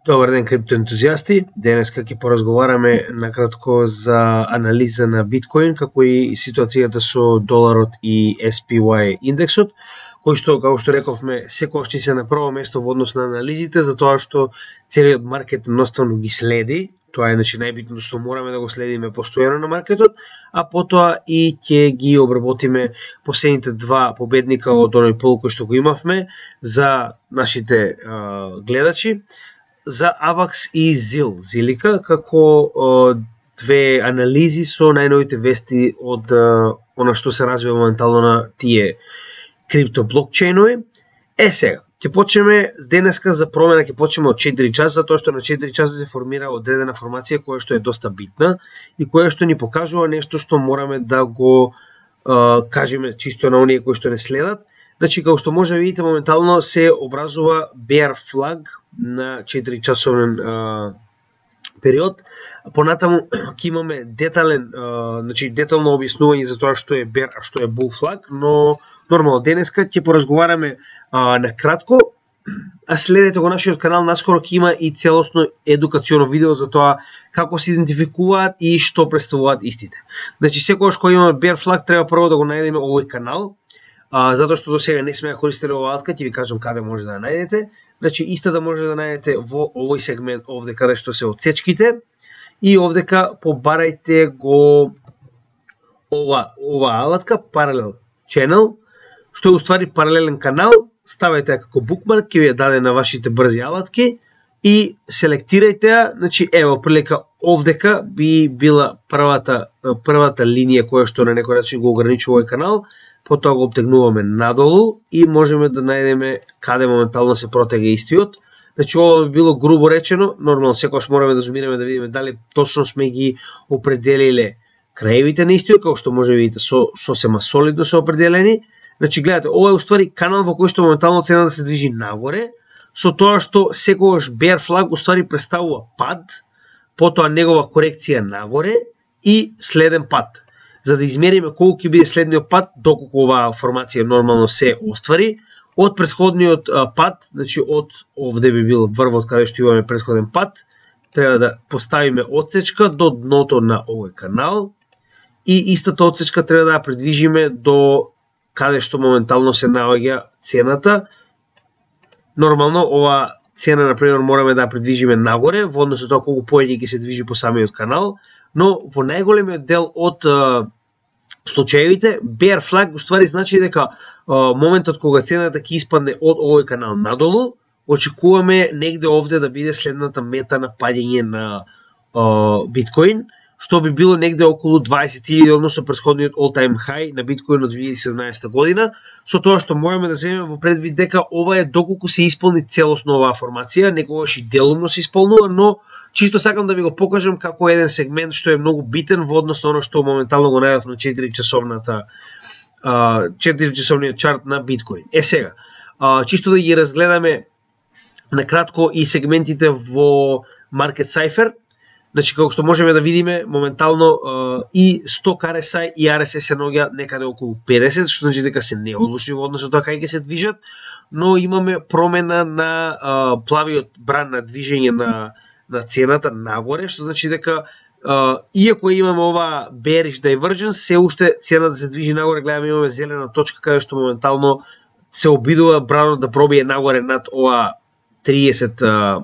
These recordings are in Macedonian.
Добар ден, криптоентузијасти. Денеска ќе поразговараме накратко за анализа на биткоин, како и ситуацијата со доларот и SPY индексот, кој што, како што рековме, секогаш ќе се на прво место во однос на анализите, затоа што целиот маркет едноставно ги следи. Тоа е најбитното што мораме да го следиме постојано на маркетот, а потоа и ќе ги обработиме последните два победника од оној пол кој што го имавме за нашите гледачи, за AVAX и Zilliqa, како две анализи со најновите вести од она што се развива моментално на тие крипто блокчейнови. Сега, ќе почнеме денеска за промена, ќе почнеме од 4 часа, затоа што на 4 часа се формира одредена формација која што е доста битна и која што ни покажува нешто што мораме да го кажеме чисто на оние кои што не следат. Значи, како што може да видите, моментално се образува bear flag на 4 часовен период. Понатаму ќе имаме детално објаснување за тоа што е bear, а што е bull flag, но нормално денеска ќе поразговараме на кратко, а следете го нашиот канал, наскоро ќе има и целосно едукационо видео за тоа како се идентификуваат и што представуваат истите. Значи, секогаш кога имаме bear flag треба прво да го најдеме овој канал, затоа што до сега не сме ја користеле оваа алатка, ќе ви кажам каде може да ја најдете. Значи, истата може да најдете во овој сегмент овде каде што се отсечките и овдека побарајте го ова алатка Parallel Channel, што е уствари паралелен канал, ставајте ја како букмарк, ќе ви ја даде на вашите брзи алатки и селектирајте ја. Значи, ево, прилика овдека би била првата линија која што на некој начин го ограничува овој канал, потоа го обтегнуваме надолу и можеме да најдеме каде моментално се протега истиот. Значи, ова би било грубо речено, нормално секогаш мораме да зумираме да видиме дали точно сме ги определиле краевите на истиот, како што може да видите сосема солидно се определени. Значи, гледате, ова е уствари канал во кој што моментално цената да се движи нагоре, со тоа што секогаш bear flag уствари представува пад, потоа негова корекција нагоре и следен пад. За да измериме колку ќе биде следниот пат, доколку оваа формација нормално се оствари, од претходниот пат, значи од овде би бил врвот каде што имаме претходен пат, треба да поставиме отсечка до дното на овој канал и истата отсечка треба да ја придвижиме до каде што моментално се наоѓа цената. Нормално ова цена, например, мораме да ја придвижиме нагоре во однос на тоа колку поеќе ќе се движи по самиот канал, но во најголемиот дел од случаевите bear flag уствари значи дека моментот кога цената ќе испадне од овој канал надолу, очекуваме негде овде да биде следната мета на паѓање на биткоин, што би било негде околу 20.000, односно претходниот all-time high на биткоин од 2017 година, со тоа што можеме да земеме во предвид дека ова е доколку се исполни целосно оваа формација, некогаш и делумно се исполнува, но чисто сакам да ви го покажам како еден сегмент што е многу битен во однос на оно што моментално го најдов на 4-часовниот чарт на биткоин. Сега, чисто да ги разгледаме на кратко и сегментите во Market Cypher. Значи, како што можеме да видиме, моментално и сток RSI и RSI се наоѓа некаде околу 50, што значи дека се неодлучни во однос на тоа кај ќе се движат, но имаме промена на плавиот бран на движење на цената нагоре, што значи дека иако имаме ова bearish divergence, се уште цената се движи нагоре, гледаме имаме зелена точка каде што моментално се обидува бранот да пробие нагоре над ова 30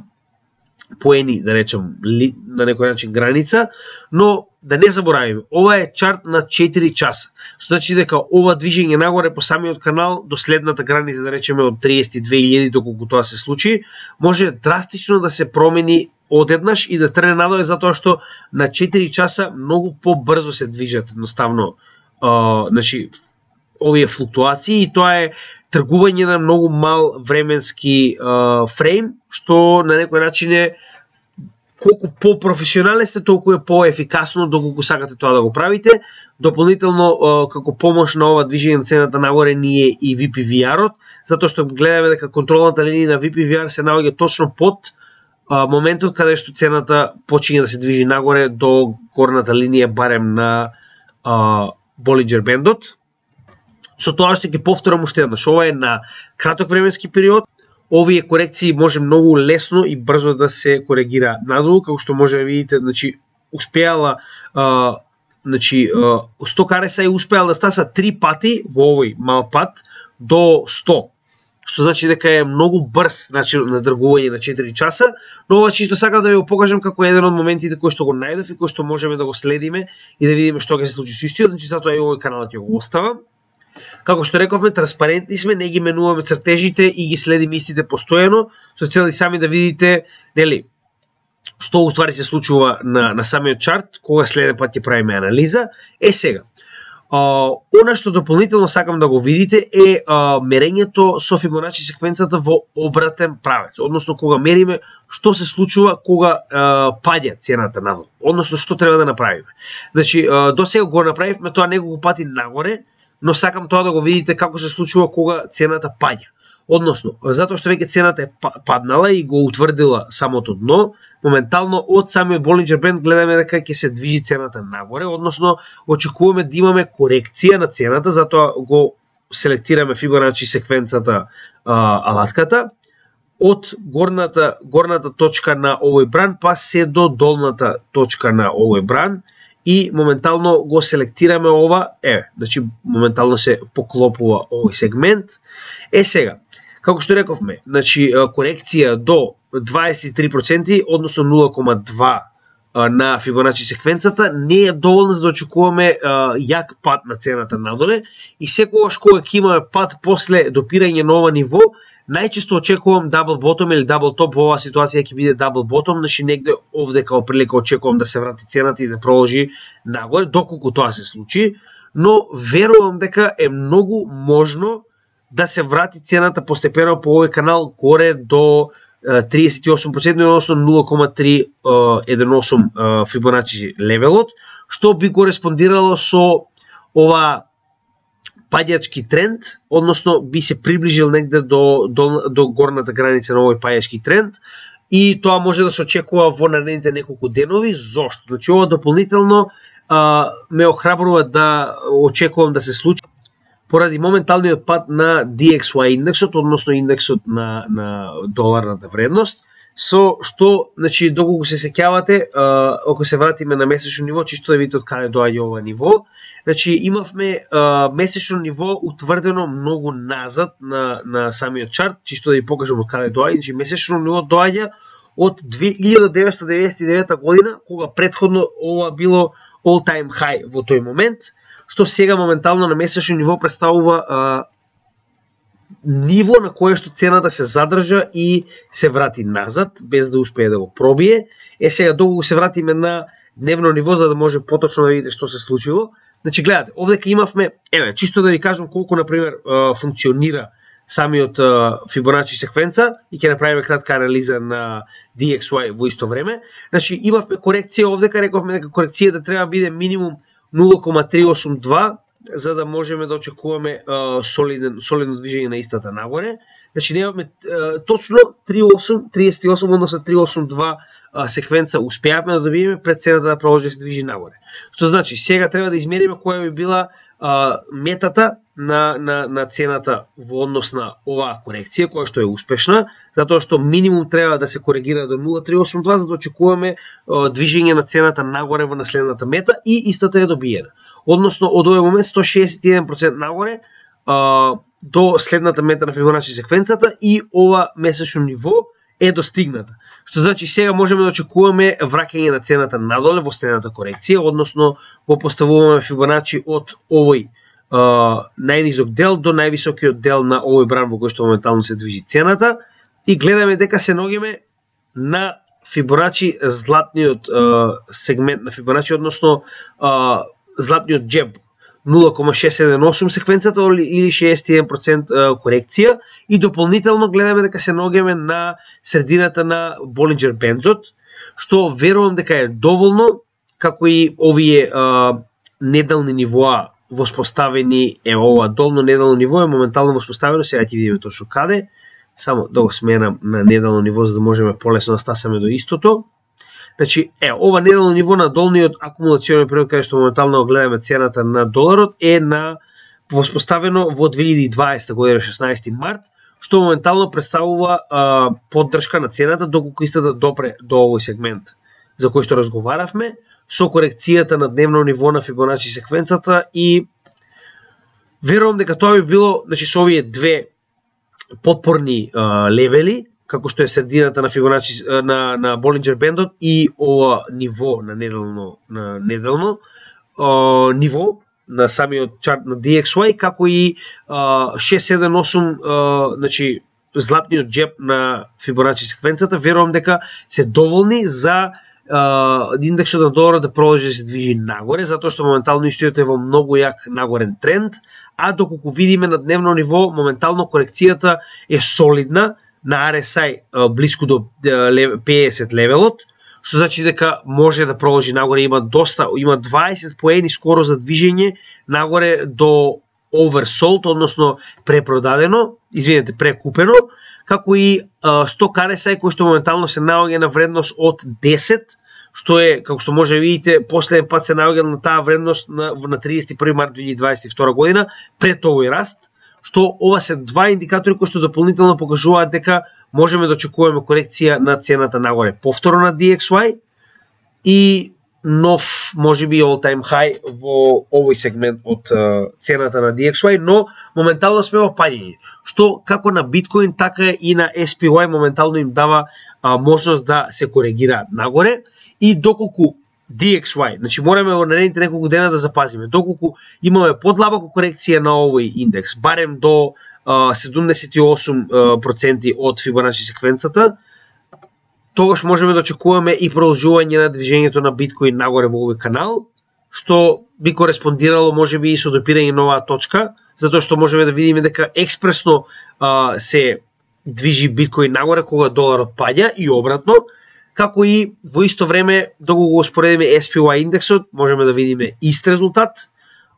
поени, да речем, на некој начин граница, но да не заборавиме, ова е чарт на 4 часа, што значи дека ова движење нагоре по самиот канал до следната граница, да речеме од 32.000, доколку тоа се случи, може драстично да се промени одеднаш и да трне надоле, затоа што на 4 часа многу побрзо се движат едноставно значи, овие флуктуации и тоа е тргување на многу мал временски фрейм, што на некој начин е колку по-професионален сте, толку е по-ефикасно доколку сакате тоа да го правите. Дополнително, како помош на ова движење на цената нагоре ни е и VPVR-от, затоа што гледаме дека контролната линија на VPVR се наоѓа точно под моментот каде што цената почиња да се движи нагоре до горната линија барем на Bollinger Bandот. Со тоа што ќе повторам уште еднаш, ова е на краток временски период, овие корекции може многу лесно и брзо да се коригира надолу, како што може да видите, значи успеала Stock RSI успеал да стаса 3 пати во овој мал пат до 100. Што значи дека е многу брз начин на тргување на 4 часа, но ова чисто сакам да ви го покажам како еден од моментите кои што го најдов и кои што можеме да го следиме и да видиме што ќе се случи со истиот, значи затоа и овој каналот ќе го оставам. Како што рековме, транспарентни сме, не ги менуваме цртежите и ги следиме истите постојано, со цел и сами да видите, нели, што уствари се случува на самиот чарт, кога следен пат ќе правиме анализа. Сега, она што дополнително сакам да го видите е мерењето со Фибоначи секвенцата во обратен правец, односно кога мериме што се случува кога паѓа цената надолу, односно што треба да направиме. Значи, до сега го направивме тоа неколку пати нагоре, но сакам тоа да го видите како се случува кога цената паѓа. Односно, затоа што веќе цената е паднала и го утврдила самото дно, моментално од самиот Болинџер бенд гледаме дека ќе се движи цената нагоре, односно очекуваме да имаме корекција на цената, затоа го селектираме Фибоначи секвенцата алатката од горната точка на овој бран па се до долната точка на овој бран и моментално го селектираме ова, значи моментално се поклопува овој сегмент. Сега, како што рековме, значи корекција до 23%, односно 0,2 на Фибоначи секвенцата не е доволна за да очекуваме јак пат на цената надоле и секогаш кога ќе имаме пат после допирање на ова ниво, најчесто очекувам дабл ботом или дабл топ, во оваа ситуација ќе биде дабл ботом, значи негде овде као прилика очекувам да се врати цената и да продолжи нагоре, доколку тоа се случи, но верувам дека е многу можно да се врати цената постепено по овој канал горе до 38%, односно 0,318 Фибоначи левелот, што би кореспондирало со ова паѓачки тренд, односно би се приближил негде до горната граница на овој паѓачки тренд и тоа може да се очекува во наредните неколку денови. Зошто? Значи ова дополнително ме охрабрува да очекувам да се случи поради моменталниот пат на DXY индексот, односно индексот на доларната вредност, со што, значи, доколку се сеќавате, ако се вратиме на месечно ниво, чисто да видите од каде доаѓа ова ниво, значи имавме месечно ниво утврдено многу назад на самиот чарт, чисто да ви покажам од каде доаѓа, значи месечно ниво доаѓа од 1999 година, кога претходно ова било all time high во тој момент, што сега моментално на месечно ниво представува ниво на кое што цената се задржа и се врати назад, без да успее да го пробие. Сега доколку се вратиме на дневно ниво, за да може поточно да видите што се случило. Значи, гледате, овдека имавме, чисто да ви кажам колку, например, функционира самиот Фибоначи секвенца и ќе направиме кратка анализа на DXY во исто време. Значи, имавме корекција овдека, рековме дека корекцијата треба да биде минимум 0,382 за да можеме да очекуваме солидно движење на истата нагоре. Значи немаме точно 38, односно 382 секвенца успеавме да добиеме пред цената да продолжи да се движи нагоре. Што значи сега треба да измериме која би била метата на цената во однос на оваа корекција, која што е успешна, затоа што минимум треба да се коригира до 0,382 за да очекуваме движење на цената нагоре во наследната мета и истата е добиена. Односно од овој момент 161% нагоре до следната мета на Фибоначи секвенцата и ова месечно ниво е достигната. Што значи сега можеме да очекуваме враќање на цената надоле во следната корекција, односно го поставуваме Фибоначи од овој најнизок дел до највисокиот дел на овој бран во кој што моментално се движи цената и гледаме дека се ногиме на Фибоначи златниот сегмент на Фибоначи, односно златниот џеб 0,678 секвенцата или 61% корекција и дополнително гледаме дека се ногиме на средината на Болинџер бендот, што верувам дека е доволно, како и овие неделни нивоа воспоставени, ова долно неделно ниво е моментално воспоставено, сега ќе видиме точно каде, само да го сменам на неделно ниво за да можеме полесно да стасаме до истото. Значи, ова неделно ниво на долниот акумулационен период, каде што моментално гледаме цената на доларот, е воспоставено во 2020 година, 16 март, што моментално представува поддршка на цената доколку истата допре до овој сегмент за кој што разговаравме, со корекцијата на дневно ниво на Фибоначи секвенцата и верувам дека тоа би било, значи со овие две подпорни левели, како што е средината на Фибоначи на Болинџер бендот и ова ниво на неделно ниво на самиот чарт на DXY, како и 678 значи златниот джеб на Фибоначи секвенцата, верувам дека се доволни за индексот на доларот да продолжи да се движи нагоре, затоа што моментално истиот е во многу як нагорен тренд, а доколку видиме на дневно ниво, моментално корекцијата е солидна на RSI близко до 50 левелот, што значи дека може да продолжи нагоре, има 20 поени скоро за движење нагоре до oversold, односно препродадено, прекупено, како и сток RSI кој што моментално се наоѓа на вредност од 10, што е, како што може да видите, последен пат се наоѓа на таа вредност на 31 март 2022 година, пред овој раст, што ова се два индикатори кои што дополнително покажуваат дека можеме да очекуваме корекција на цената нагоре. Повторно на DXY и нов, можеби all-time high во овој сегмент од цената на DXY, но моментално сме во падање, што како на биткоин, така и на SPY моментално им дава можност да се коригираат нагоре и доколку DXY, значи мораме во наредните неколку дена да запазиме, доколку имаме подлабока корекција на овој индекс, барем до 78% од Фибоначи секвенцата, тогаш можеме да очекуваме и продолжување на движењето на биткоин нагоре во овој канал, што би кореспондирало можеби и со допирање на оваа точка, затоа што можеме да видиме дека експресно се движи биткоин нагоре кога доларот паѓа и обратно, како и во исто време доколку го споредиме SPY индексот, можеме да видиме ист резултат,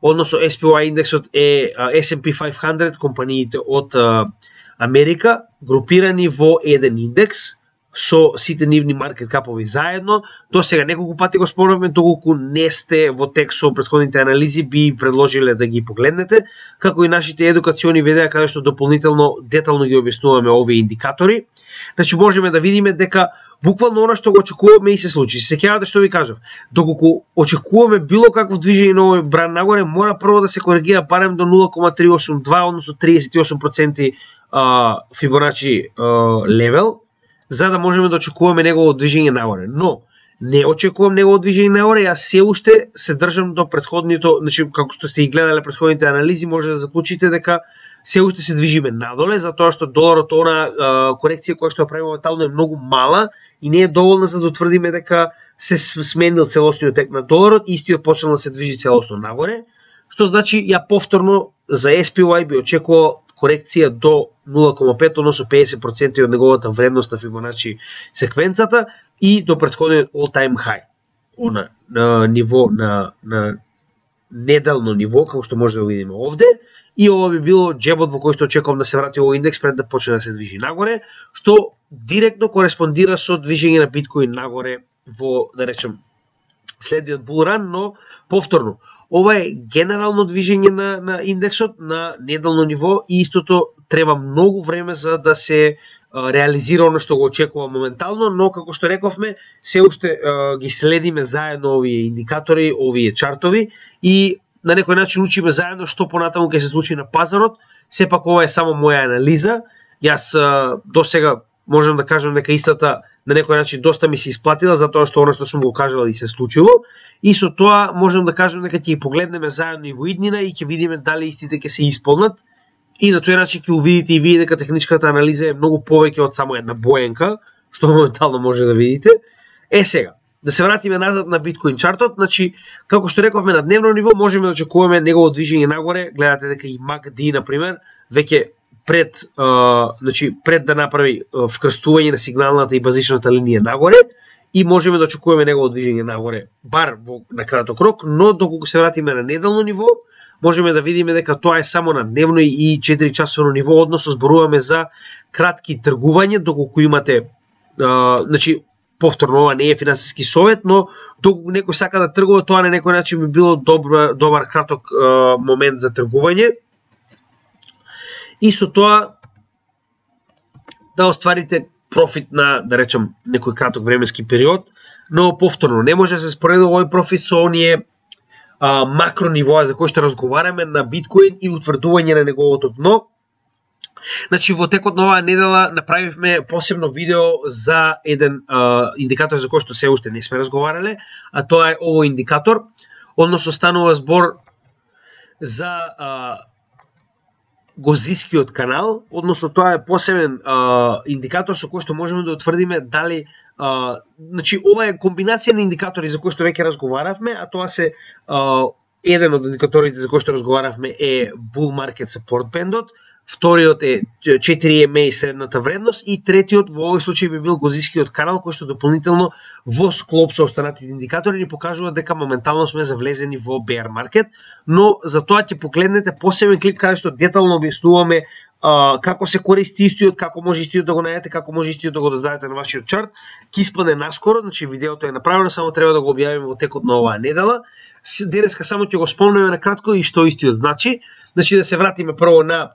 односно SPY индексот е S&P 500 компаниите од Америка, групирани во еден индекс, со сите нивни маркет капови заедно. До сега неколку пати го спомнавме, доколку не сте во тек со претходните анализи, би предложиле да ги погледнете, како и нашите едукациони видеа каде што дополнително детално ги објаснуваме овие индикатори. Значи можеме да видиме дека буквално она што го очекуваме и се случи. Се сеќавате што ви кажав, доколку очекуваме било какво движење на овој бран нагоре, мора прво да се коригира барем до 0,382, односно 38% Фибоначи левел, за да можеме да очекуваме негово движење нагоре. Но не очекувам негово движење нагоре, јас се уште се држам до претходното, значи како што сте ги гледале претходните анализи, може да заклучите дека се уште се движиме надоле, затоа што доларот, она корекција која што прави моментално е многу мала и не е доволна за да утврдиме дека се сменил целосниот тек на доларот, истиот почнал да се движи целосно нагоре, што значи ја повторно за SPY би очекувал корекција до 0,5, односно 50% од неговата вредност на Фибоначи секвенцата и до претходниот all-time high. На ниво на неделно ниво, како што може да видиме овде, и ова би било джебот во кој што очекувам да се врати овој индекс пред да почне да се движи нагоре, што директно кореспондира со движење на биткоин нагоре во, да речем, следниот булран, но повторно, ова е генерално движење на индексот на неделно ниво и истото треба многу време за да се реализира оно што го очекува моментално, но како што рековме, се уште ги следиме заедно овие индикатори, овие чартови и на некој начин учиме заедно што понатаму ќе се случи на пазарот. Сепак ова е само моја анализа. Јас до сега можам да кажам дека истата на некој начин доста ми се исплатила, затоа што оно што сум го кажал и се случило. И со тоа можам да кажам дека ќе ги погледнеме заедно и во иднина и ќе видиме дали истите ќе се исполнат. И на тој начин ќе увидите и вие дека техничката анализа е многу повеќе од само една боенка, што моментално може да видите. Сега, да се вратиме назад на биткоин чартот, значи, како што рековме на дневно ниво, можеме да очекуваме негово движење нагоре. Гледате дека и MACD, например, веќе пред да направи вкрстување на сигналната и базичната линија нагоре, и можеме да очекуваме негово движење нагоре, бар на краток рок, но доколку се вратиме на неделно ниво, можеме да видиме дека тоа е само на дневно и 4 часово ниво, односно зборуваме за кратки тргувања, доколку имате, значи, повторно ова не е финансиски совет, но доколку некој сака да тргува, тоа на некој начин би било добар краток момент за тргување. И со тоа да остварите профит на, да речем, некој краток временски период, но повторно не може да се споредува овој профит со оние макро нивоа за кои што разговараме на биткоин и утврдување на неговото дно. Значи, во текот на оваа недела направивме посебно видео за еден индикатор за кој што се уште не сме разговарале, а тоа е овој индикатор, односно станува збор за Гозискиот канал, односно тоа е посебен индикатор со кој што можеме да утврдиме дали значи ова е комбинација на индикатори за кои што веќе разговаравме, а тоа се еден од индикаторите за кои што разговаравме е Bull Market Support Band-от, вториот е 4 EMA и средната вредност и третиот во овој случај би бил Гозискиот канал кој што дополнително во склоп со останатите индикатори ни покажува дека моментално сме завлезени во bear market, но за тоа ќе погледнете посебен клип каде што детално објаснуваме како се користи истиот, како може истиот да го најдете, како може истиот да го додадете на вашиот чарт. Ќе испадне наскоро, значи видеото е направено, само треба да го објавиме во текот на оваа недела. Денеска само ќе го спомнеме на кратко и што истиот значи. Значи да се вратиме прво на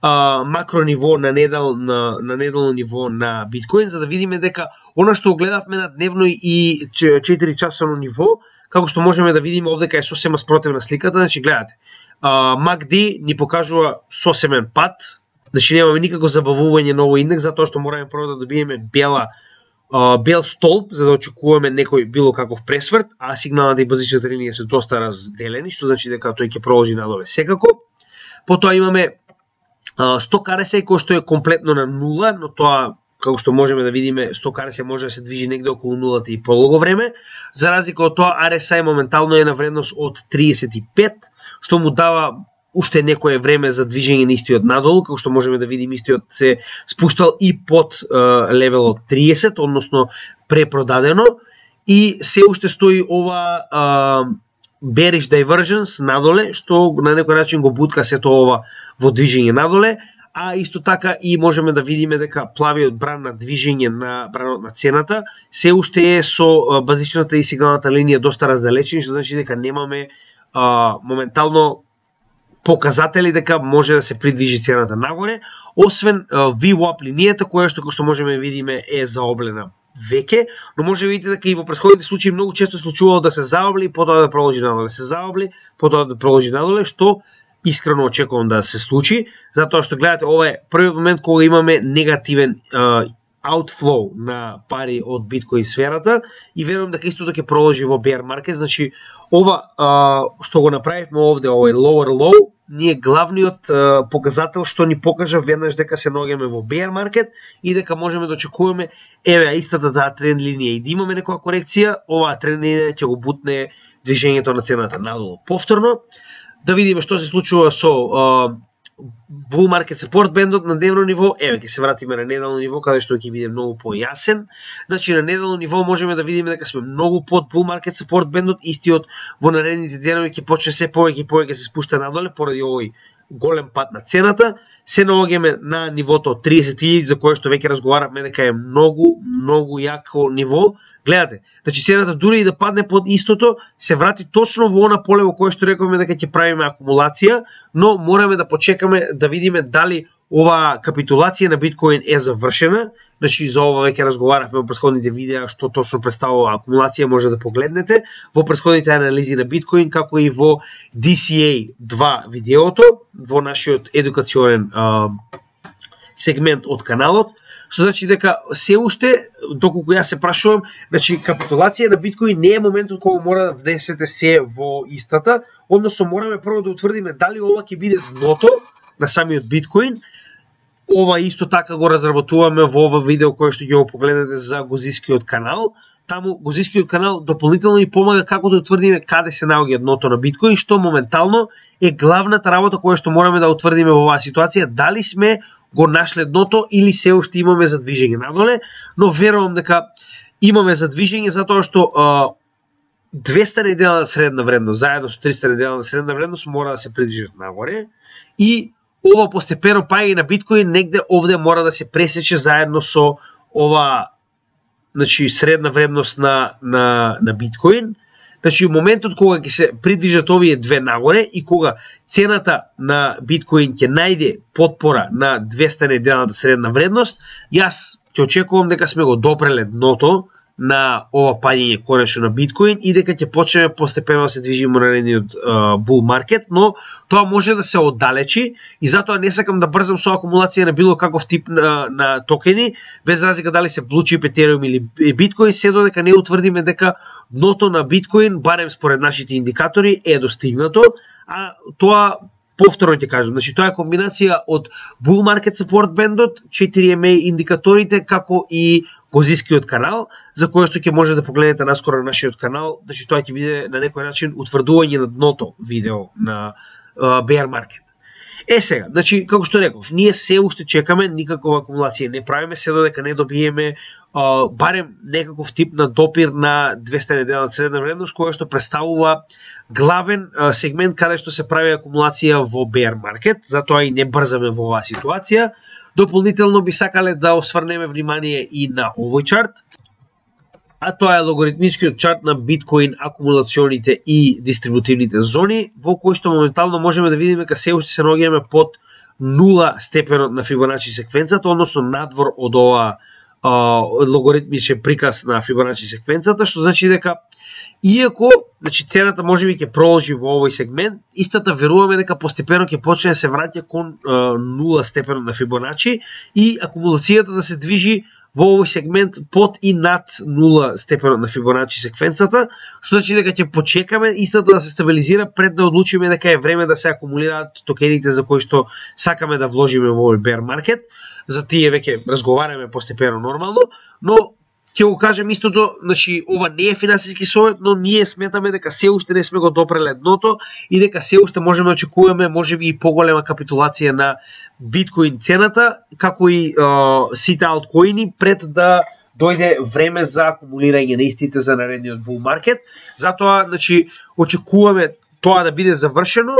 макро ниво на неделно ниво на биткоин, за да видиме дека она што гледавме на дневно и 4 часово ниво, како што можеме да видиме овдека е сосема спротивна сликата. Значи гледате, MACD ни покажува сосемен пат, значи немаме никако забавување на овој индекс, затоа што мораме прво да добиеме бел столб за да очекуваме некој било каков пресврт, а сигналната и базичната линија се доста разделени, што значи дека тој ќе продолжи надоле секако. Потоа имаме сток RSI кој што е комплетно на нула, но тоа како што можеме да видиме, сток RSI може да се движи негде околу нулата и полого време. За разлика од тоа, RSI моментално е на вредност од 35, што му дава уште некое време за движење на истиот надолу, како што можеме да видиме истиот се спуштал и под левелот 30, односно препродадено, и се уште стои ова bearish divergence надоле, што на некој начин го бутка сето ова во движење надоле, а исто така и можеме да видиме дека плавиот бран на движење на бранот на цената се уште е со базичната и сигналната линија доста раздалечени, што значи дека немаме моментално показатели дека може да се придвижи цената нагоре, освен VWAP линијата која што можеме да видиме е заоблена веќе, но може да видите дека и во претходните случаи многу често случувало да се заобли и потоа да продолжи надоле, се заобли, потоа да продолжи надоле, што искрено очекувам да се случи, затоа што гледате, ова е првиот момент кога имаме негативен outflow на пари од биткоин сферата и верувам дека истото ќе продолжи во bear market. Значи ова што го направивме овде, овој lower low, ние главниот показател што ни покажа веднаш дека се наоѓаме во bear market и дека можеме да очекуваме еве истата таа тренд линија и да имаме некоја корекција, оваа тренд линија ќе го бутне движењето на цената надолу. Повторно да видиме што се случува со Bull Market Support Band-от на дневно ниво. Еве ќе се вратиме на неделно ниво каде што ќе биде многу појасен. Значи на неделно ниво можеме да видиме дека сме многу под Bull Market Support Band-от, истиот во наредните денови ќе почне се повеќе и повеќе се спушта надоле поради овој голем пат на цената. Се наоѓаме на нивото од 30.000 за кое што веќе разговаравме дека е многу јако ниво. Гледате, значи цената дури и да падне под истото, се врати точно во она поле во кое што рековме дека ќе правиме акумулација, но мораме да почекаме да видиме дали оваа капитулација на биткоин е завршена. Значи за ова веќе разговаравме во претходните видеа што точно представува акумулација, може да погледнете во претходните анализи на биткоин, како и во DCA 2 видеото, во нашиот едукационен сегмент од каналот. Што значи дека се уште, доколку јас се прашувам, значи капитулација на биткоин не е моментот кога мора да внесете се во истата, односно мораме прво да утврдиме дали ова ќе биде дното на самиот биткоин. Ова исто така го разработуваме во ова видео кое што ќе го погледнете за Гозискиот канал. Таму Гозискиот канал дополнително ни помага како да утврдиме каде се наоѓа дното на биткоин, што моментално е главната работа која што мораме да утврдиме во оваа ситуација, дали сме го нашле дното или се уште имаме задвижење надоле, но верувам дека имаме задвижење затоа што 200 неделна средна вредност заедно со 300 неделна средна вредност мора да се придвижат нагоре и ова постепено паѓање на биткоин негде овде мора да се пресече заедно со ова, значи средна вредност на биткоин. Значи, моментот кога ќе се придвижат овие две нагоре и кога цената на биткоин ќе најде потпора на 200 неделната средна вредност, јас ќе очекувам дека сме го допреле дното на ова паѓање конечно на биткоин и дека ќе почнеме постепено да се движиме на наредниот бул маркет, но тоа може да се оддалечи и затоа не сакам да брзам со акумулација на било каков тип на токени, без разлика дали се Blue Chip, Ethereum или биткоин, се додека не утврдиме дека дното на биткоин, барем според нашите индикатори, е достигнато, а тоа повторно ќе кажам, значи тоа е комбинација од bull market support бендот, 4MA индикаторите, како и Гозискиот канал, за кој што ќе може да погледнете наскоро на нашиот канал, значи тоа ќе биде на некој начин утврдување на дното видео на bear market. Сега, значи како што реков, ние се уште чекаме, никаква акумулација не правиме се додека не добиеме барем некаков тип на допир на 200 неделна средна вредност, која што представува главен сегмент каде што се прави акумулација во bear market, затоа и не брзаме во оваа ситуација. Дополнително би сакале да осврнеме внимание и на овој чарт, а тоа е логаритмичкиот чарт на биткоин акумулационите и дистрибутивните зони, во кој што моментално можеме да видиме дека се уште се наоѓаме под 0 степенот на Фибоначи секвенцата, односно надвор од ова логаритмичен приказ на Фибоначи секвенцата, што значи дека иако значи цената можеби ќе продолжи во овој сегмент, истата веруваме дека постепено ќе почне да се враќа кон 0 степенот на Фибоначи и акумулацијата да се движи во овој сегмент под и над 0 степенот на Фибоначи секвенцата, што значи дека ќе почекаме истата да се стабилизира пред да одлучиме дека е време да се акумулираат токените за кои што сакаме да вложиме во овој bear market. За тие веќе разговараме постепено нормално, но ќе го кажем истото, значи ова не е финансиски совет, но ние сметаме дека се уште не сме го допреле дното и дека се уште можеме да очекуваме можеби и поголема капитулација на биткоин цената, како и сите алткоини пред да дојде време за акумулирање на истите за наредниот bull market. Затоа, значи, очекуваме тоа да биде завршено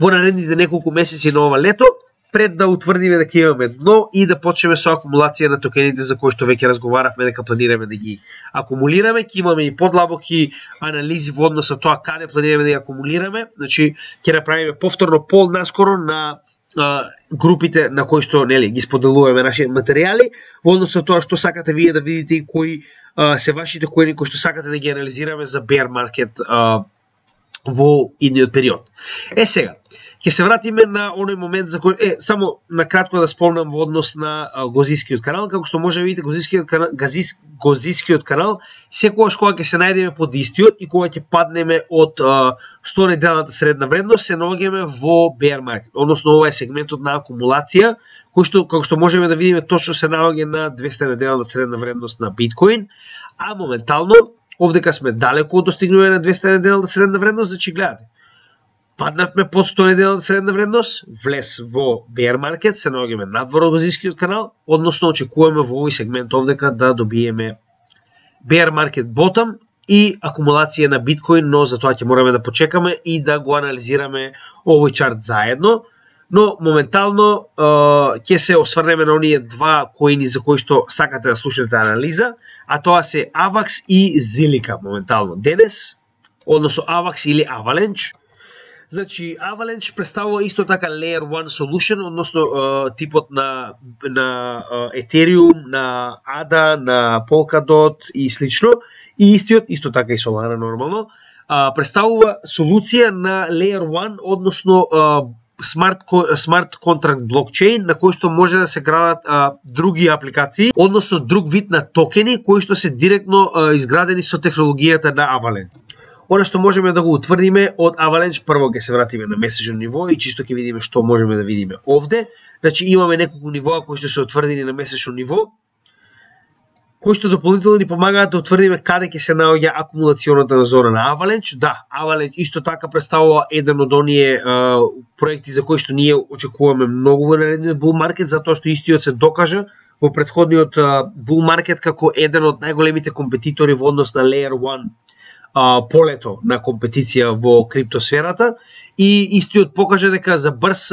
во наредните неколку месеци на ова лето, пред да утврдиме дека имаме дно и да почнеме со акумулација на токените за кои што веќе разговаравме дека планираме да ги акумулираме. Ќе имаме и подлабоки анализи во однос на тоа каде планираме да ги акумулираме. Значи ќе направиме повторно пол наскоро на групите на кои што нели ги споделуваме нашите материјали во однос на тоа што сакате вие да видите и кои се вашите кои што сакате да ги анализираме за bear market во идниот период. Сега ќе се вратиме на оној момент за кој само накратко да спомнам во однос на Гозискиот канал, како што може да видите Гозискиот канал секогаш кога ќе се најдеме под истиот и кога ќе паднеме од 100 неделната средна вредност, се наоѓаме во bear market, односно ова е сегментот на акумулација кој што како што можеме да видиме точно се наоѓа на 200 неделната средна вредност на биткоин, а моментално овдека сме далеку од достигнување на 200 неделната средна вредност, значи гледате. Паднавме под 100 неделната средна вредност, влез во bear market, се наоѓаме надвор од Гозискиот канал, односно очекуваме во овој сегмент овдека да добиеме bear market bottom и акумулација на биткоин, но за тоа ќе мораме да почекаме и да го анализираме овој чарт заедно. Но моментално ќе се осврнеме на оние два коини за кои што сакате да слушнете анализа, а тоа се AVAX и Zilliqa моментално денес, односно AVAX или Avalanche. Значи, Avalanche представува исто така Layer 1 Solution, односно типот на Ethereum, на ADA, на Polkadot и слично, и исто така и Solana нормално, представува солуција на Layer 1, односно смарт контракт блокчейн на кој што може да се градат други апликации, односно друг вид на токени кои што се директно изградени со технологијата на Avalanche. Она што можеме да го утврдиме од Avalanche, прво ќе се вратиме на месечно ниво и чисто ќе видиме што можеме да видиме овде. Значи имаме неколку нивоа кои што се утврдени на месечно ниво, кои што дополнително ни помагаат да утврдиме каде ќе се наоѓа акумулационата зона на Avalanche. Да, Avalanche исто така представува еден од оние проекти за кои што ние очекуваме многу во наредниот bull market, затоа што истиот се докажа во претходниот bull market како еден од најголемите компетитори во однос на Layer 1 полето на компетиција во криптосферата и истиот покажа дека за брз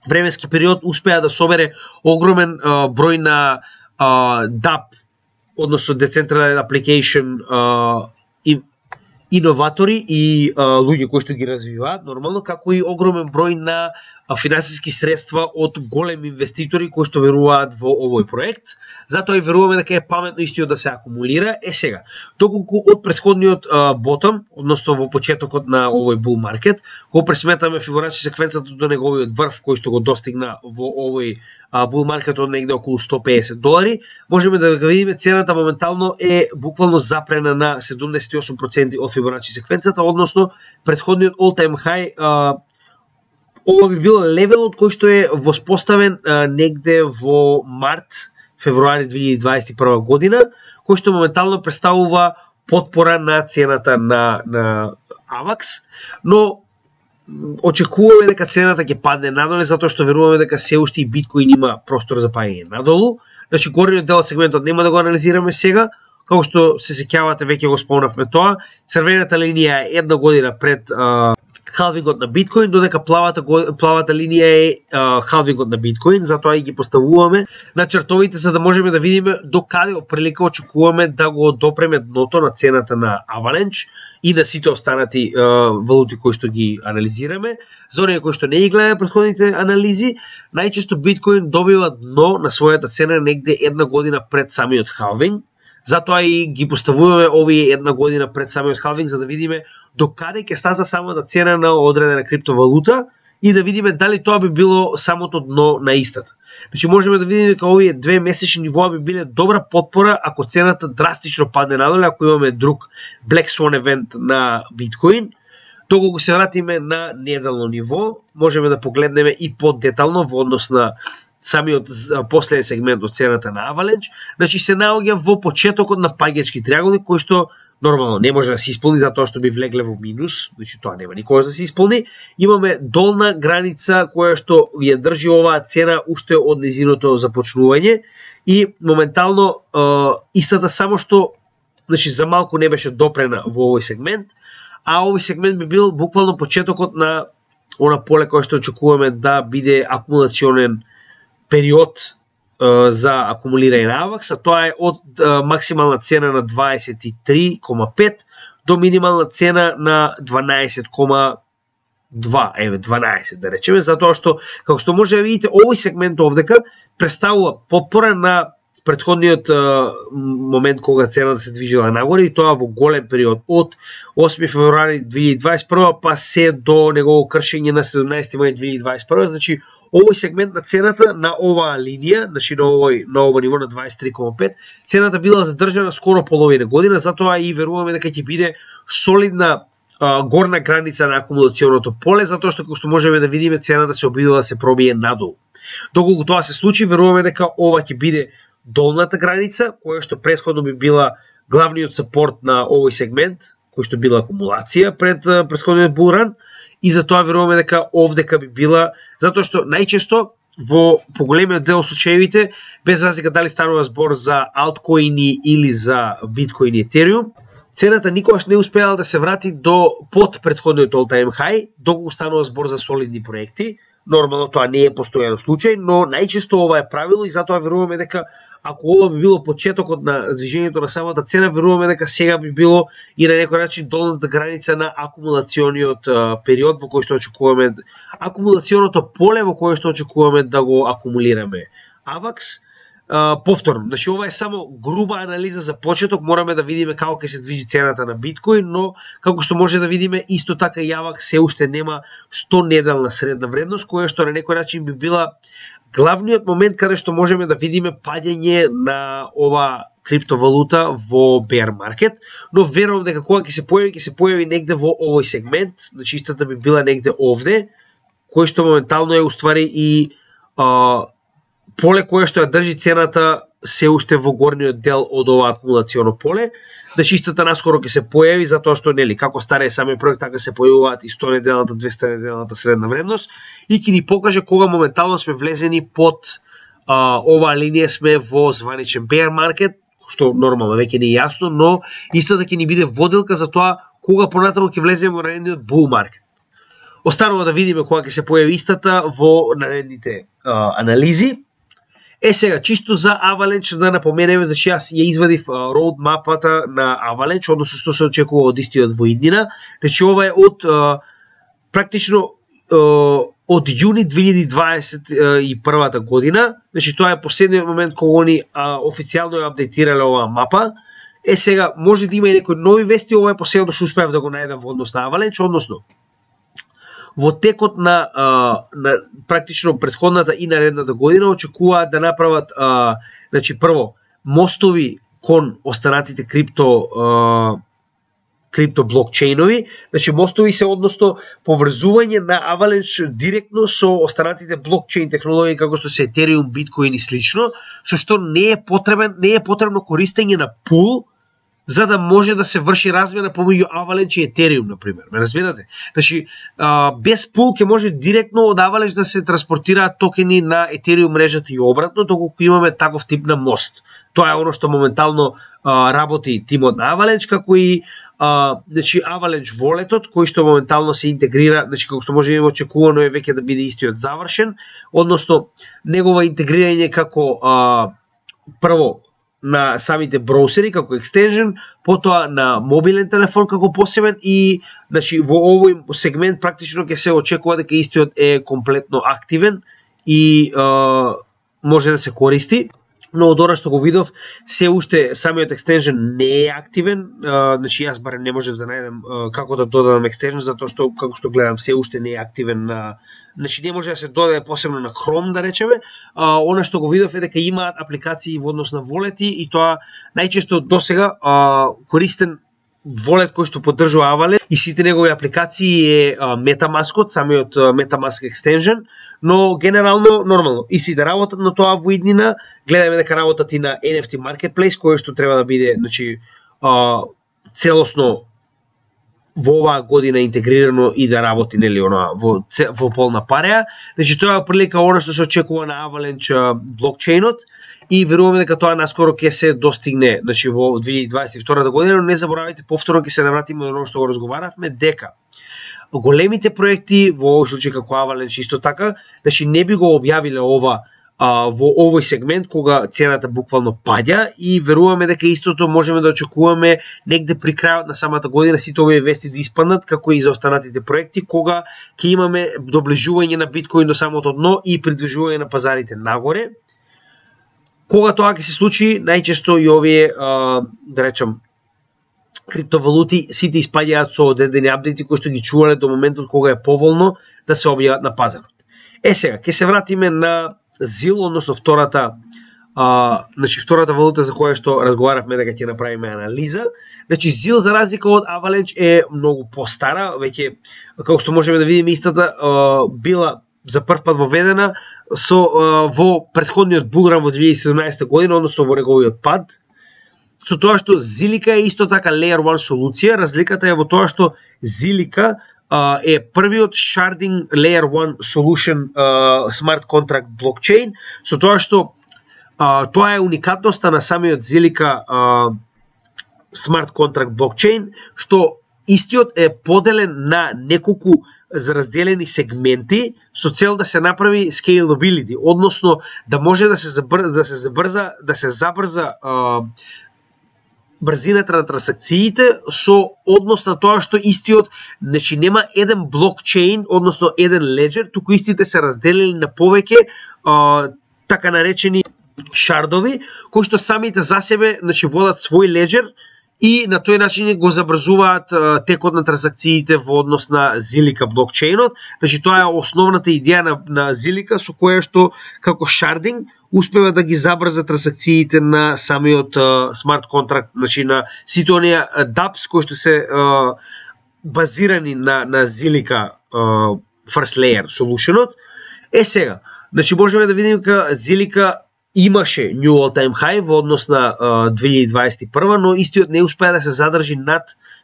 временски период успеа да собере огромен број на DApp односно Decentralized Application иноватори и луѓе кои што ги развиваат нормално, како и огромен број на финансиски средства од големи инвеститори кои што веруваат во овој проект. Затоа и веруваме дека е паметно истиот да се акумулира. Сега, доколку од претходниот ботом, односно во почетокот на овој bull market, кога пресметаме Фибоначи секвенцата до неговиот врв кој што го достигна во овој bull market од негде околу $150, можеме да го видиме цената моментално е буквално запрена на 78% од Фибоначи секвенцата, односно претходниот all-time high. Ова би бил левелот кој што е воспоставен негде во март-февруари 2021 година, кој што моментално представува потпора на цената на AVAX, но очекуваме дека цената ќе падне надоле, затоа што веруваме дека се уште и биткоин има простор за паѓање надолу. Значи горниот дел од сегментот нема да го анализираме сега, како што се сеќавате веќе го спомнавме тоа. Црвената линија е една година пред халвингот на биткоин, додека плавата линија е халвингот на биткоин, затоа и ги поставуваме на чартовите за да можеме да видиме до каде оприлика очекуваме да го допреме дното на цената на Avalanche и на сите останати валути кои што ги анализираме. За оние кои што не ги гледаат претходните анализи, најчесто биткоин добива дно на својата цена негде една година пред самиот халвинг. Затоа и ги поставуваме овие една година пред самиот халвинг за да видиме до каде ќе стаза самата цена на одредена криптовалута и да видиме дали тоа би било самото дно на истата. Значи можеме да видиме дека овие две месечни нивоа би биле добра потпора ако цената драстично падне надоле, ако имаме друг Black Swan евент на биткоин. Доколку се вратиме на неделно ниво, можеме да погледнеме и подетално во однос на самиот последен сегмент од цената на Avalanche. Значи се наоѓа во почетокот на паѓачки триаголник кој што нормално не може да се исполни затоа што би влегле во минус, значи тоа нема никогаш да се исполни. Имаме долна граница која што ја држи оваа цена уште од незиното започнување и моментално истата само што значи за малку не беше допрена во овој сегмент, а овој сегмент би бил буквално почетокот на она поле кое што очекуваме да биде акумулационен период за акумулирање на AVAX, а тоа е од максимална цена на 23,5 до минимална цена на 12,2, 12 да речеме, затоа што, како што може да видите, овој сегмент овдека представува потпора на претходниот момент кога цената се движила нагоре и тоа во голем период од 8 февруари 2021 па се до негово кршење на 17 мај 2021, значи овој сегмент на цената на оваа линија, значи на ово ниво на 23,5, цената била задржана скоро половина година, затоа и веруваме дека ќе биде солидна горна граница на акумулационото поле, затоа што како што можеме да видиме цената се обидува да се пробие надолу. Доколку тоа се случи, веруваме дека ова ќе биде долната граница, која што претходно би била главниот сапорт на овој сегмент, кој што била акумулација пред претходниот булран, и затоа веруваме дека овдека би била, затоа што најчесто во поголемиот дел случаевите, без разлика дали станува збор за алткоини или за биткоин и етериум, цената никогаш не успеала да се врати до под претходниот all-time high, доколку станува збор за солидни проекти. Нормално тоа не е постојано случај, но најчесто ова е правило и затоа веруваме дека ако ова би било почетокот на движењето на самата цена, веруваме дека сега би било и на некој начин долната граница на акумулациониот период во кој што очекуваме, акумулационото поле во кое што очекуваме да го акумулираме AVAX. Повторно, значи ова е само груба анализа за почеток, мораме да видиме како ќе се движи цената на биткоин, но како што може да видиме, исто така и AVAX се уште нема 100 неделна средна вредност, која што на некој начин би била главниот момент каде што можеме да видиме паѓање на ова криптовалута во bear market, но верувам дека кога ќе се појави негде во овој сегмент, значи истата би била негде овде, кој што моментално е уствари и поле кое што ја држи цената се уште во горниот дел од ова акумулационо поле. Значи истата наскоро ќе се појави затоа што нели како старе самиот проект така се појавуваат и 100 неделната, 200 неделната средна вредност и ќе ни покаже кога моментално сме влезени под оваа линија, сме во званичен bear market, што нормално веќе не е јасно, но истата ќе ни биде воделка за тоа кога понатаму ќе влеземе во наредниот bull market. Останува да видиме кога ќе се појави истата во наредните анализи. Сега, чисто за Avalanche да напоменеме, значи јас ја извадив роудмапата на Avalanche, односно што се очекува од истиот во иднина. Значи ова е од практично од јуни 2021 година. Значи тоа е последниот момент кога они официјално ја апдейтирале оваа мапа. Сега може да има и некои нови вести, ова е последното што успеав да го најдам во однос на Avalanche, односно во текот на практично претходната и наредната година очекуваат да направат значи прво мостови кон останатите крипто блокчейнови, значи мостови се односно поврзување на Avalanche директно со останатите блокчейн технологии како што се Ethereum, Bitcoin и слично, со што не е потребно користење на пул за да може да се врши размена помеѓу Avalanche и Ethereum, например. Ме разбирате? Значи, без пул ќе може директно од Avalanche да се транспортираат токени на Ethereum мрежата и обратно, доколку имаме таков тип на мост. Тоа е оно што моментално работи тимот на Avalanche, како и значи Avalanche Wallet-от, кој што моментално се интегрира, значи како што може да очекувано е веќе да биде истиот завршен, односно негова интегрирање како прво на самите броусери како екстенжен, потоа на мобилен телефон како посебен и значи во овој сегмент практично ќе се очекува дека истиот е комплетно активен и може да се користи. Но од ора што го видов, се уште самиот екстенжен не е активен, значи јас барем не можев да најдем како да додадам екстенжен, затоа што како што гледам се уште не е активен, значи не може да се додаде посебно на Chrome да речеме. Она што го видов е дека имаат апликации во однос на волети и тоа најчесто досега користен волет кој што поддржува Avalanche и сите негови апликации е MetaMask, самиот MetaMask екстенжен, но генерално нормално и сите работат на тоа во иднина. Гледаме дека работат и на NFT Marketplace, кој што треба да биде значи целосно во оваа година интегрирано и да работи нели во полна пареја. Значи тоа е прилика она што се очекува на Avalanche блокчейнот и веруваме дека тоа наскоро ќе се достигне, значи во 2022 година, но не заборавајте повторно ќе се навратиме на оно што го разговаравме дека големите проекти во овој случај како Avalanche исто така, значи не би го објавиле ова во овој сегмент кога цената буквално паѓа и веруваме дека истото можеме да очекуваме негде при крајот на самата година сите овие вести да испаднат како и за останатите проекти кога ќе имаме доближување на биткоин до самото дно и придвижување на пазарите нагоре. Кога тоа ќе се случи, најчесто и овие да речам криптовалути сите испаѓаат со одредени апдејти кои што ги чувале до моментот кога е поволно да се објават на пазарот. Сега ќе се вратиме на ZIL, односно втората валута за која што разговаравме дека ќе направиме анализа. Значи ZIL за разлика од Avalanche е многу постара, веќе како што можеме да видиме истата била за прв пат воведена во претходниот булран во 2017 година, односно во неговиот пад. Со тоа што Zilliqa е исто така Layer 1 солуција, разликата е во тоа што Zilliqa е првиот sharding Layer 1 solution smart contract блокчейн, со тоа што тоа е уникатноста на самиот Zilliqa smart contract блокчейн, што истиот е поделен на неколку разделени сегменти со цел да се направи scalability, односно да може да се забрза брзината на трансакциите со однос на тоа што истиот, значи нема еден блокчейн, односно еден леджер, туку истите се разделени на повеќе така наречени шардови, кои што самите за себе, значи водат свој леджер и на тој начин го забрзуваат текот на трансакциите во однос на Zilliqa блокчейнот. Значи тоа е основната идеја на Zilliqa со која што како шардинг успева да ги забрза трансакциите на самиот смарт контракт, значи на сите оние dApps кои што се базирани на Zilliqa First Layer Solution-от. Сега, значи можеме да видиме дека Zilliqa имаше new all-time high во однос на 2021, но истиот не успеа да се задржи над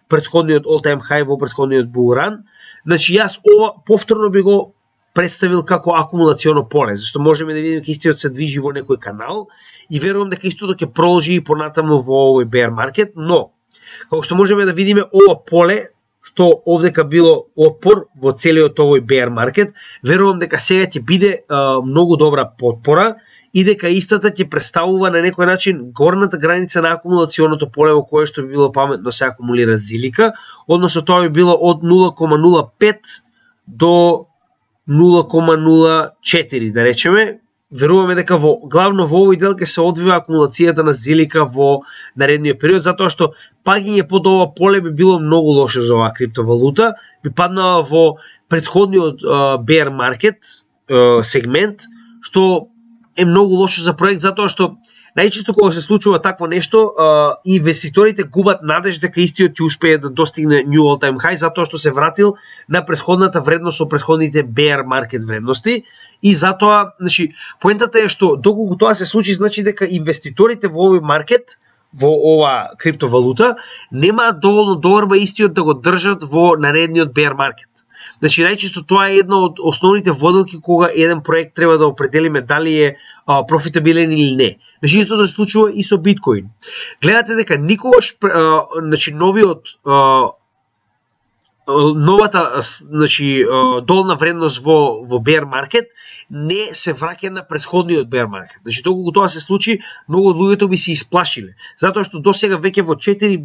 претходниот all-time high во претходниот булран. Значи јас ова повторно би го представил како акумулационо поле, зашто можеме да видиме дека истиот се движи во некој канал и верувам дека истото ќе продолжи и понатаму во овој bear market, но како што можеме да видиме ова поле што овдека било отпор во целиот овој bear market, верувам дека сега ќе биде многу добра потпора и дека истата ќе представува на некој начин горната граница на акумулационото поле во кое што би било паметно се акумулира зилика, односно тоа би било од 0,05 до 0,04, да речеме. Веруваме дека главно во овој дел ќе се одвива акумулацијата на зилика во наредниот период, затоа што паѓање под ова поле би било многу лошо за оваа криптовалута, би паднала во претходниот bear market сегмент, што е многу лошо за проект, затоа што најчесто кога се случува такво нешто, инвеститорите губат надеж дека истиот ќе успее да достигне new all time high, затоа што се вратил на претходната вредност со претходните bear market вредности, и затоа, значи, поентата е што доколку тоа се случи, значи дека инвеститорите во овој маркет, во ова криптовалута, немаат доволно доверба истиот да го држат во наредниот bear market. Значи, најчесто тоа е една од основните водилки кога еден проект треба да определиме дали е профитабилен или не. Значи, тоа се случува и со биткоин. Гледате дека никогаш, значи, новата, значи, долна вредност во bear market не се враќа на претходниот bear market. Значи, доколку тоа се случи, многу од луѓето би се исплашиле. Затоа што досега веќе во 4,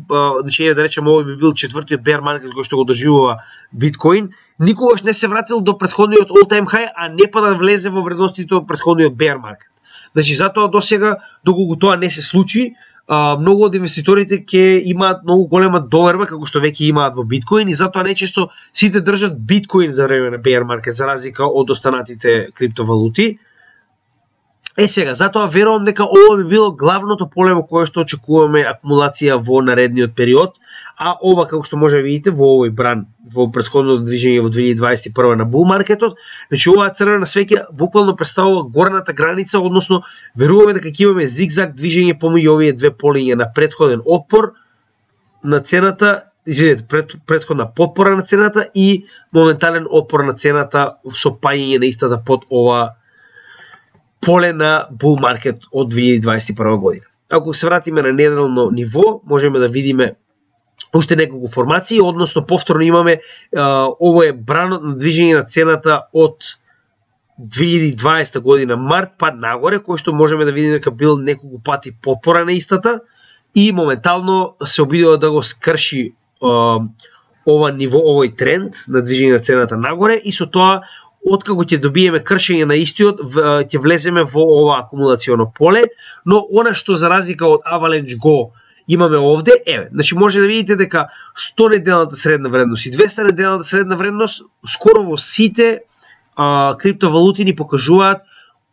значи, да речеме, овој би бил четвртиот bear market кој што го доживува биткоин, никогаш не се вратил до претходниот all time high, а не па да влезе во вредностите од претходниот bear market. Значи, затоа досега, доколку тоа не се случи, многу од инвеститорите ќе имаат многу голема доверба, како што веќе имаат во биткоин, и затоа најчесто сите држат биткоин за време на bear market, за разлика од останатите криптовалути. Сега, затоа верувам дека ова би било главното поле во кое што очекуваме акумулација во наредниот период, а ова, како што може да видите во овој бран, во претходното движење во 2021 на бул маркетот, значи оваа црвена свеќа буквално представува горната граница, односно веруваме дека ќе имаме зигзаг движење помеѓу овие две полиња на претходен отпор на цената, извинете, претходна потпора на цената и моментален отпор на цената со паѓање на истата под ова поле на bull market од 2021 година. Ако се вратиме на неделно ниво, можеме да видиме уште неколку формации, односно повторно имаме ово е бранот на движење на цената од 2020 година март па нагоре, кој што можеме да видиме дека бил неколку пати потпора на истата и моментално се обидува да го скрши ова ниво, овој тренд на движење на цената нагоре, и со тоа откако ќе добиеме кршење на истиот, ќе влеземе во ова акумулационо поле, но она што за разлика од Avalanche Go имаме овде, значи може да видите дека 100 неделната средна вредност и 200 неделната средна вредност скоро во сите криптовалути ни покажуваат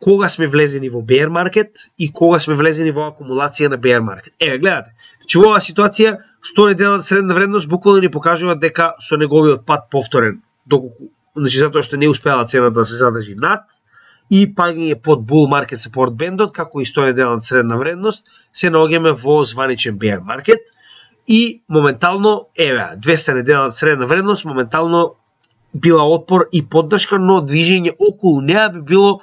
кога сме влезени во bear market и кога сме влезени во акумулација на bear market. Гледате, значи во оваа ситуација 100 неделната средна вредност буквално ни покажува дека со неговиот пат повторен, доколку, значи затоа што не успеала цената да се задржи над и паѓање под bull market support бендот, како и 100 неделната средна вредност, се наоѓаме во званичен bear market и моментално 200 неделната средна вредност моментално била отпор и поддршка, но движење околу неа би било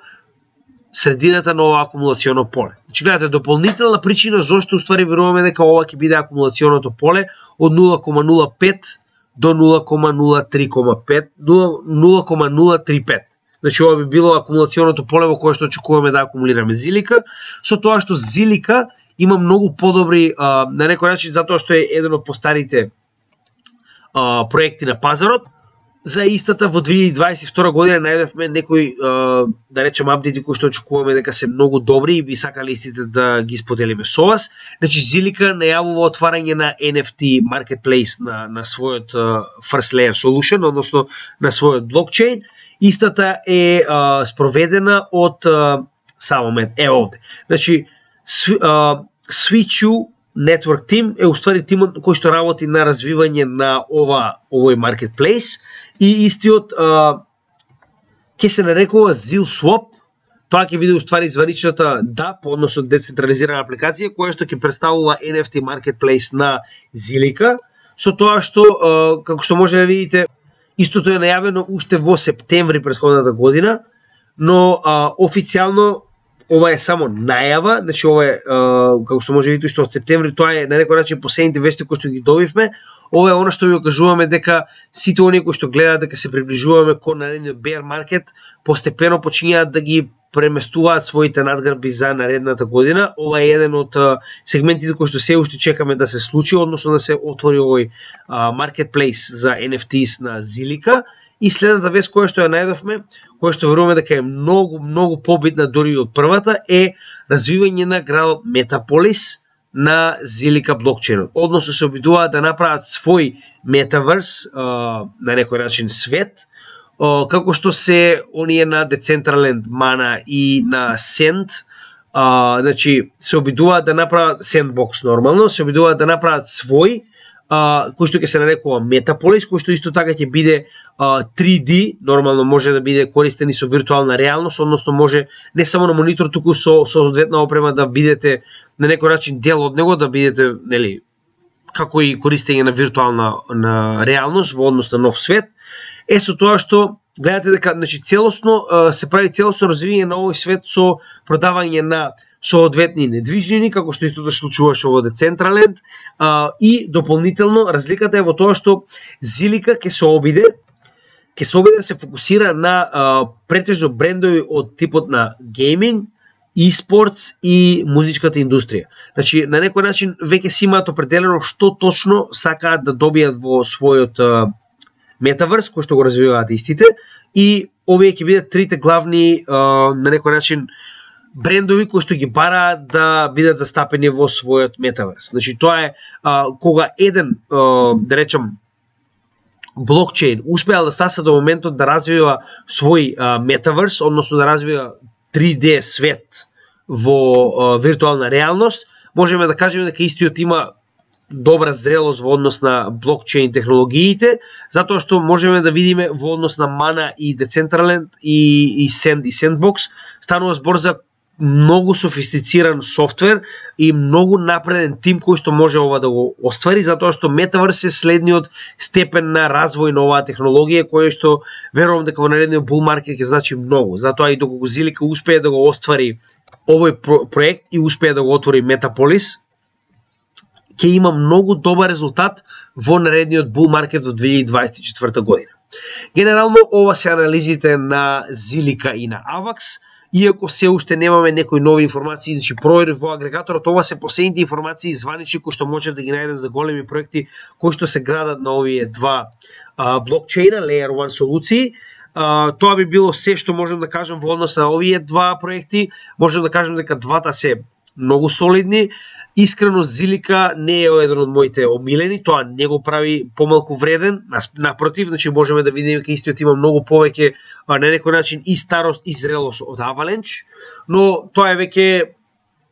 средината на ова акумулационо поле. Значи гледате, дополнителна причина зошто уствари веруваме дека ова ќе биде акумулационото поле од 0,05 до 0,035. Значи ова би било акумулационото поле во кое што очекуваме да акумулираме зилика, со тоа што зилика има многу подобри, на некој начин затоа што е еден од постарите проекти на пазарот. За истата во 2022 година најдовме некои, да речем, апдети кои што очекуваме дека се многу добри и би сакале истите да ги споделиме со вас. Значи Zilliqa најавува отварање на NFT marketplace на својот first layer solution, односно на својот блокчейн. Истата е спроведена од само момент, овде. Значи Switchu Network Team е уствари тимот кој што работи на развивање на овој marketplace и истиот ќе се нарекува ZilSwap. Тоа ќе биде уствари званичната DApp, односно децентрализирана апликација која што ќе представува NFT marketplace на Zilliqa, со тоа што како што може да видите истото е најавено уште во септември претходната година, но официјално ова е само најава, значи ова е, како што може да видите, што од септември, тоа е на некој начин последните вести кои што ги добивме. Ова е она што ви кажуваме дека сите оние кои што гледаат дека се приближуваме кон наредниот bear market, постепено почињаат да ги преместуваат своите надграби за наредната година. Ова е еден од сегментите кои што се уште чекаме да се случи, односно да се отвори овој marketplace за NFTs на Zilliqa. И следната вест која што ја најдовме, која што веруваме дека е многу побитна дури од првата, е развивање на градот Метаполис на Zilliqa блокчейнот. Односно се обидуваат да направат свој метаверс, на некој начин свет, како што се оние на Decentraland, Mana и на Send, значи се обидуваат да направат Sandbox нормално, се обидуваат да направат свој, кој што ќе се нарекува Метаполис, кој што исто така ќе биде 3D, нормално може да биде користен и со виртуална реалност, односно може не само на монитор, туку со соодветна опрема да бидете на некој начин дел од него, да бидете, нели, како и користење на виртуална реалност во однос на нов свет. Со тоа што гледате дека, значи, целосно се прави целосно развивање на овој свет со продавање на соодветни недвижнини, како што исто да случуваше во Decentraland, и дополнително разликата е во тоа што Zilliqa ќе се обиде да се фокусира на претежно брендови од типот на гейминг, e-спортс и музичката индустрија. Значи, на некој начин веќе си имаат определено што точно сакаат да добијат во својот метаверс, кој што го развиваат истите, и овие ќе бидат трите главни, на некој начин, брендови кои што ги бараат да бидат застапени во својот метаверс. Значи, тоа е кога еден, да речем, блокчейн успеал да стаса до моментот да развива свој метаверс, односно да развива 3D свет во виртуална реалност, можеме да кажеме дека истиот има добра зрелост во однос на блокчейн технологиите, затоа што можеме да видиме во однос на Mana и Decentraland и Send и Sandbox, станува збор за многу софистициран софтвер и многу напреден тим кој што може ова да го оствари, затоа што Metaverse е следниот степен на развој на оваа технологија, кој што верувам дека во наредниот bull market ќе значи многу. Затоа и доколку Zilliqa успее да го оствари овој проект и успее да го отвори Метаполис, ќе има многу добар резултат во наредниот bull market во 2024 година. Генерално ова се анализите на Zilliqa и на Avax. Иако се уште немаме некои нови информации, значи проверив во агрегаторот, ова се последните информации званични кои што можев да ги најдем за големи проекти кои што се градат на овие два блокчейна, Layer 1 солуции. Тоа би било се што можем да кажем во однос на овие два проекти. Можем да кажем дека двата се многу солидни. Искрено, Zilliqa не е еден од моите омилени, тоа не го прави помалку вреден, напротив, значи можеме да видиме дека истиот има многу повеќе на некој начин и старост и зрелост од Avalanche, но тоа е веќе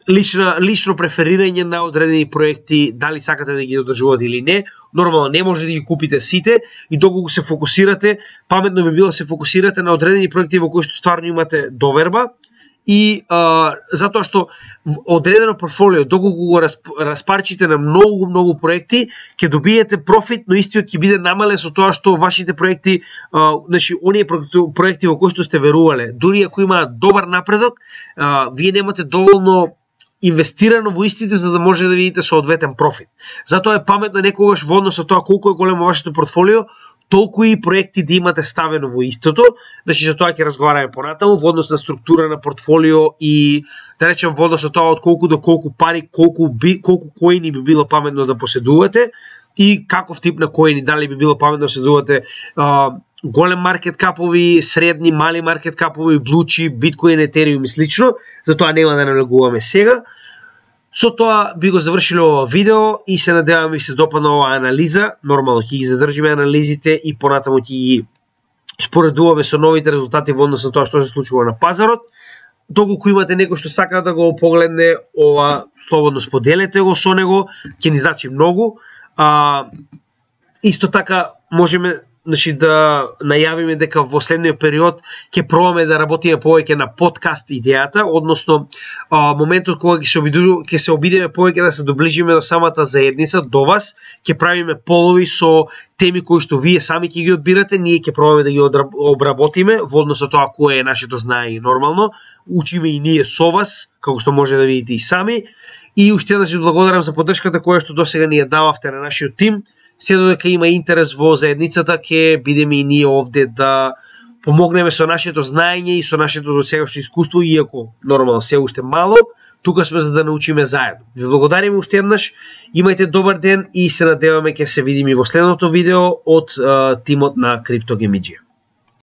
лично преферирање на одредени проекти, дали сакате да ги одржувате или не. Нормално не може да ги купите сите и доколку се фокусирате, паметно би било да се фокусирате на одредени проекти во кои што стварно имате доверба. И затоа што одредено портфолио, доколку го распарчите на многу проекти, ќе добиете профит, но истиот ќе биде намален со тоа што вашите проекти, значи оние проекти во кои што сте верувале, дури ако имаат добар напредок, вие немате доволно инвестирано во истите за да може да видите соодветен профит. Затоа е паметно некогаш во однос со тоа колку е големо вашето портфолио, толку и проекти да имате ставено во истото. Значи за тоа ќе разговараме понатаму во однос на структура на портфолио и да речем во однос на тоа од колку до колку пари, колку коини би било паметно да поседувате и каков тип на коини, дали би било паметно да поседувате голем маркет капови, средни, мали маркет капови, блучи, биткоин, етериум и слично. Затоа нема да навлегуваме сега. Со тоа би го завршиле ова видео и се надевам ви се допадна оваа анализа. Нормално ќе ги задржиме анализите и понатаму ќе ги споредуваме со новите резултати во однос на тоа што се случува на пазарот. Доколку имате некој што сака да го погледне ова, слободно споделете го со него, ќе ни значи многу. Исто така можеме, значи, да најавиме дека во следниот период ќе пробаме да работиме повеќе на подкаст идејата, односно моментот кога ќе се обидеме повеќе да се доближиме до самата заедница, до вас, ќе правиме полови со теми кои што вие сами ќе ги одбирате, ние ќе пробаме да ги обработиме во однос на тоа кое е нашето знание нормално, учиме и ние со вас, како што може да видите и сами, и уште да се благодарам за поддршката која што досега ни ја дававте на нашиот тим. Се додека има интерес во заедницата, ќе бидеме и ние овде да помогнеме со нашето знаење и со нашето досегашно искуство, иако нормално се уште мало, тука сме за да научиме заедно. Ви благодариме уште еднаш, имајте добар ден и се надеваме ќе се видиме во следното видео од тимот на CryptoGameG.